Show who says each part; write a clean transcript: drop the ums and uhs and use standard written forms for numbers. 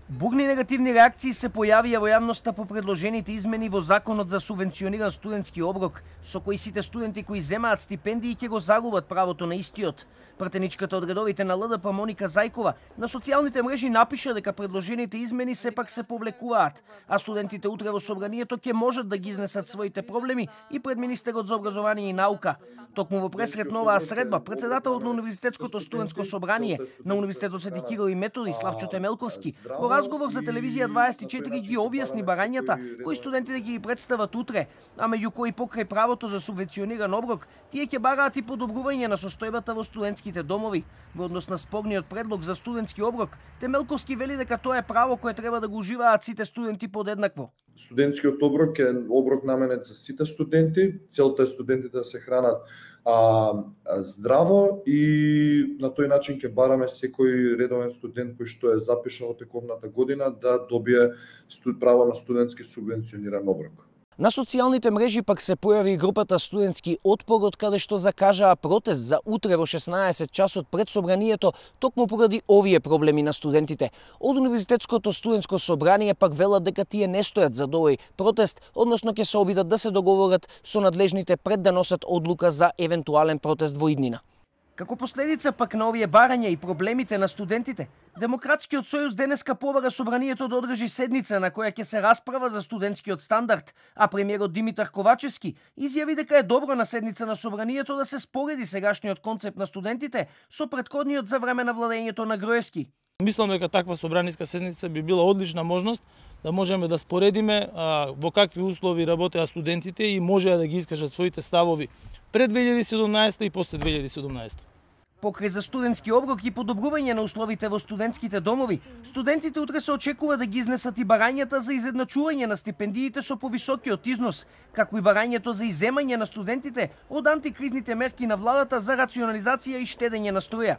Speaker 1: Бурни негативни реакции се појавија во јавноста по предложените измени во Законот за субвенциониран студентски оброк, со кои сите студенти кои земаат стипендии ќе го загубат правото на истиот. Пратеничката од редовите на ЛДП Моника Зајкова на социјалните мрежи напиша дека предложените измени сепак се повлекуваат, а студентите утре во собранието ќе можат да ги изнесат своите проблеми и пред министерот за образование и наука. Токму во пресред на оваа средба, председателот на Универзитетското студентско собрание на Универзитетот Свети Кирил и Методи Славчо Темелковски во разговор за телевизија 24 ги објасни барањата кои студентите ќе ги представат утре, а меѓу кои покрај правото за субвенциониран оброк, тие ќе бараат и подобрување на состојбата во студентските домови. Во однос на спорниот предлог за студентски оброк, Темелковски вели дека тоа е право кое треба да го уживаат сите студенти подеднакво.
Speaker 2: Студентскиот оброк е оброк наменет за сите студенти. Целта е студентите да се хранат здраво и на тој начин ќе бараме секој редовен студент кој што е запишан во тековната година да добие право на студентски субвенциониран оброк.
Speaker 1: На социјалните мрежи пак се појави и групата Студентски отпор, од каде што закажаа протест за утре во 16 часот пред собранието, токму поради овие проблеми на студентите. Од Универзитетското студентско собрание пак велат дека тие не стојат за овој протест, односно ќе се обидат да се договорат со надлежните пред да носат одлука за евентуален протест во иднина. Како последица пак на овие барања и проблемите на студентите, Демократскиот сојуз денеска побара собранието да одржи седница на која ќе се расправа за студентскиот стандард, а премиерот Димитар Ковачевски изјави дека е добро на седница на собранието да се спореди сегашниот концепт на студентите со претходниот за време на владењето на Груевски.
Speaker 3: Мислам дека таква собраниска седница би била одлична можност да можеме да споредиме во какви услови работеа студентите и можеа да ги искажат своите ставови пред 2017 и после 2017.
Speaker 1: Покрај за студентски оброк и подобрување на условите во студентските домови, студентите утре се очекува да ги изнесат и барањата за изедначување на стипендиите со повисокиот износ, како и барањето за иземање на студентите од антикризните мерки на владата за рационализација и штедење на струја.